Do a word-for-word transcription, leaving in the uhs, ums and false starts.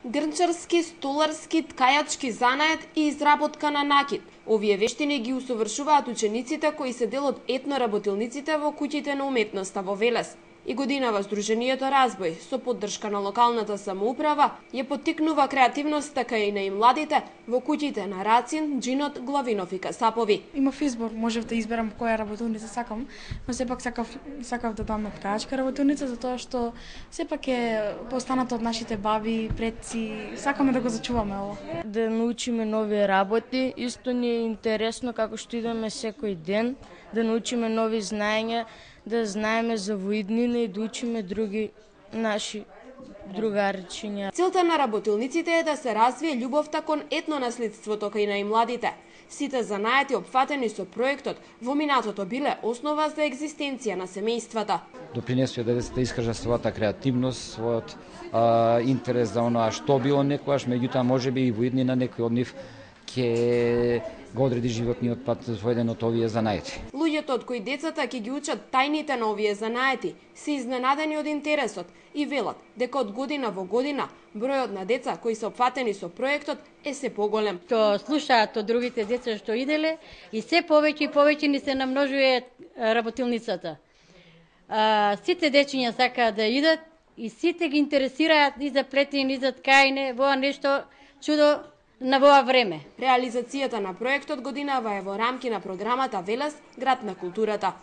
Грнчарски, столарски, ткајачки занает и изработка на накид. Овие вештини ги усовршуваат учениците кои се дел од етноработилниците во куќите на уметноста во Велес. И годинава Сдруженијето Разбој, со поддршка на локалната самоуправа, ја поттикнува креативноста кај на и младите во куќите на Рацин, Джинот, Главинов и Касапови. Имав избор, можев да изберам која работилница сакам, но сепак сакав, сакав да дам на ткаачка работилница, затоа што сепак е постанато од нашите баби, предци, сакаме да го зачуваме ово. Да научиме нови работи, исто ни е интересно како што идеме секој ден, да научиме нови знаења, да знаеме за воиднина и да учиме други наши другарчиња. Целта на работилниците е да се развие љубовта кон етнонаследството кај на и младите. Сите занаети опфатени со проектот во минатото биле основа за екзистенција на семејствата. Допринесува да децата искажа својата креативност, својот а, интерес за оноа што било некојаш, меѓутоа можеби и воиднина некој од нив ќе го одреди животниот пат во еден од овие занаети. Луѓето од кои децата ќе ги учат тајните на овие занаети се изненадени од интересот и велат дека од година во година бројот на деца кои се опфатени со проектот е се поголем. Што слушаат од другите деца што иделе и се повеќе и повеќе ни се намножува работилницата. А, сите дечиња сакаат да идат и сите ги интересираат и за плетење и за ткајне, во нешто чудо на воа време. Реализацијата на проектот годинава е во рамки на програмата Велес, град на културата.